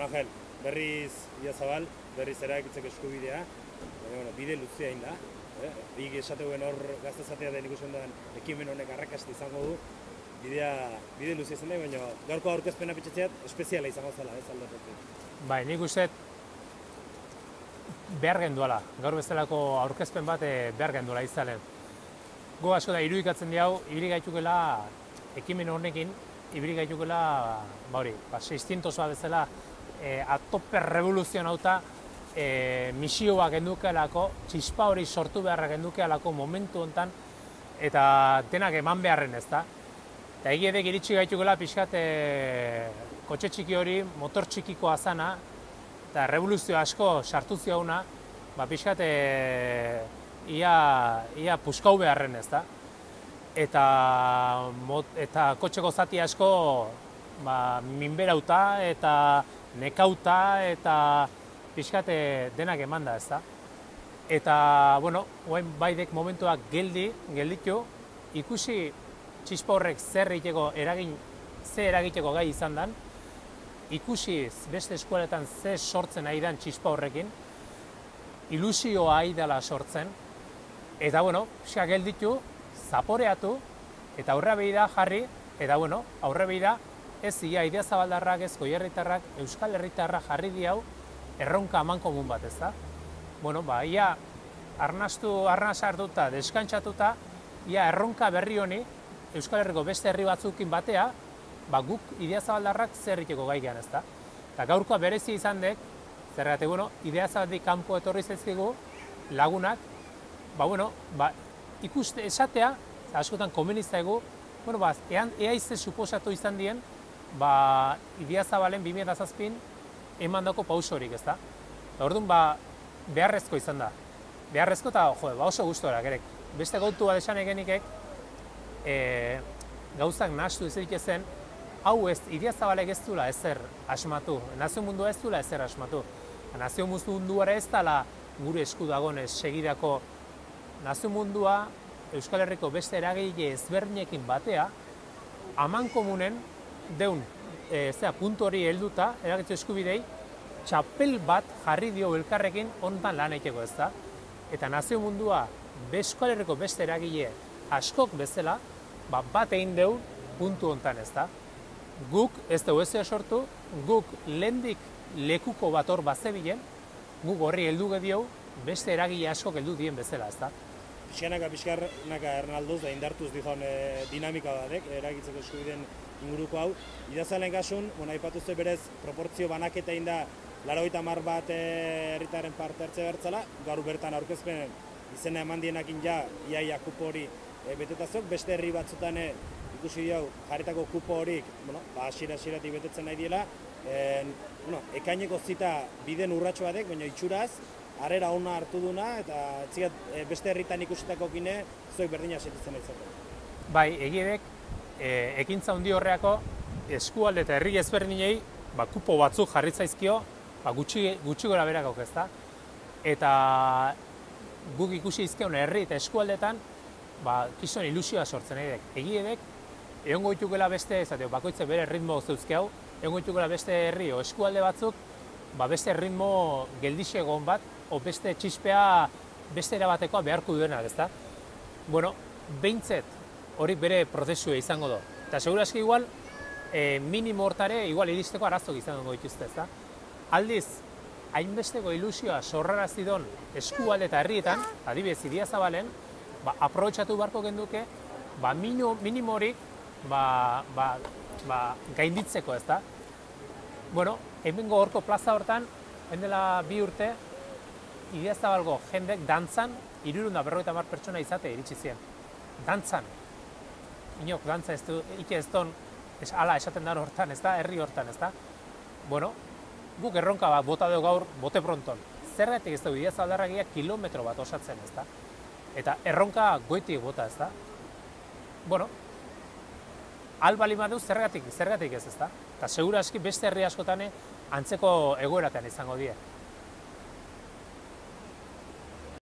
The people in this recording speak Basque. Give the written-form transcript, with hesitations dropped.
Angel, berriz Idiazabal, berriz erabakitzeko eskubidea, bide luzea hain da. Bik esateuen hor gaztezatea den ikusten duen ekimen honek arrakasta izango du. Bide luzea izan da, baina gaurko aurkezpena pitxatzeat espeziala izango zela, ez aldatetik. Bai, nik uste behar genduala, gaur bezalako aurkezpen bat behar genduala izalen. Go asko da irudikatzen diau, ibili gaitukela ekimen honekin, ibili gaitukela 600 bat bezala atope revoluzionauta misioa gendukealako, txispa hori sortu beharra gendukealako momentu hontan eta denak eman beharren ez da. Eta egiedek iritsi gaitukela pixkat kotxe txiki hori, motor txikikoa zana, eta revoluzio asko sartu ziauna, pixkat ia puskau beharren ez da. Eta kotxeko zati asko minberauta eta nekauta eta pixkat denak eman da ez da. Eta, bueno, baidek momentuak gelditu, ikusi txispa horrek zer eragiteko gai izan den, ikusi beste eskualetan ze sortzen ari den txispa horrekin, ilusioa ari dela sortzen, eta, bueno, pixka gelditu, zaporeatu, eta aurre behida jarri, eta, bueno, aurre behida ez ia Idiazabaldarrak, ez Goierritarrak, Euskal Herritarrak jarri diau erronka amankomun bat, ez da? Bueno, ia arnaz hartuta, deskantzatuta, ia erronka berri honi, Euskal Herriko beste herri batzukin batea, guk Idiazabaldarrak zer egiteko gai gehan ez da. Eta gaurkoa berezi izan dek, zergatik, Idiazabaldik kanpo etorri zaizkigu lagunak, ikuste esatea, askotan komenizta egu, ea izte suposatu izan dien, Idiazabalen 2007 eman dako pauso horik ez da. Eta orduan, beharrezko izan da. Beharrezko eta oso gustora, gerek. Beste gautu bat esan egenikek, gauzak nahastu ezerik ezen, hau ez, Idiazabalek ez duela ezer asmatu, nazio mundua ez duela ezer asmatu. Nazio munduara ez dela gure esku dagonez segidako nazio mundua Euskal Herriko beste eragile ezberdinekin batea, amankomunen deun puntu hori helduta, eragitzu eskubidei, txapel bat jarri dio elkarrekin honetan lan egiteko ez da. Eta nazio mundua Euskal Herriko beste eragile askok bezala, bat egin deu puntu honetan ez da. Guk ez dugu ezea sortu, guk lehendik lekuko bat hor bazebilen, guk horri heldu gediau beste eragile askok heldu dien bezala ez da. Pixkanaka ernalduz da indartuz dizon dinamika batek, eragitzeko eskubideen inguruko hau. Idiazabalen kasun, aipatuzte berez proportzio banaketa egin da 80 bat herritaren parte hartze bertzala, gaur bertan aurkezpen izena eman dienakin iaia kupo hori betetazok, beste herri batzutan ikusi diau jarritako kupo horik hasieratik betetzen nahi diela. Ekaineko zita biden urratxo batek, baina itxuraz, harrera ona hartu duna, eta beste herritan ikusitako kine, zuek berdina sentitzen nahi. Bai, egiedek, ekintza handi horreako, eskualde eta herri ezberdinei, kupo batzuk jarritzaizkio, gutxi gora berak ez da. Eta guk ikusi izkeun herri eta eskualdetan, kizuen ilusioa sortzen egidek. Egiedek, egon goitukela beste, bakoitze bere ritmo zeuzkeau, egon goitukela beste herri o eskualde batzuk, beste ritmo geldixegon bat, o beste txispea beste erabatekoa beharko duenak, ez da? Bueno, behintzet hori bere prozesua izango do. Eta seguraski igual, minimo hortare, igual iristeko arazok izango dituzte, ez da? Aldiz, hainbesteko ilusioa sorrarazidon eskualde eta herrietan, adibidez Idiazabalen, aprobetxatu beharko genduke, minimo horik gainditzeko, ez da? Bueno, hemengo horko plaza hortan, hendela 2 urte, Idiazabalgo jendek dantzan, 350 pertsona izate iritsi ziren. Dantzan. Inok, dantza ez du, ike ez don, ala esaten da hortan, ez da, herri hortan, ez da? Bueno, guk erronka bat bota dugu gaur, bote pronton. Zergatik ez dugu Idiazabaldarragia kilometro bat osatzen, ez da? Eta erronka goitik bota, ez da? Bueno, albali badu zergatik ez, ez da? Eta segura aski beste herri askotan antzeko egoeratean izango die.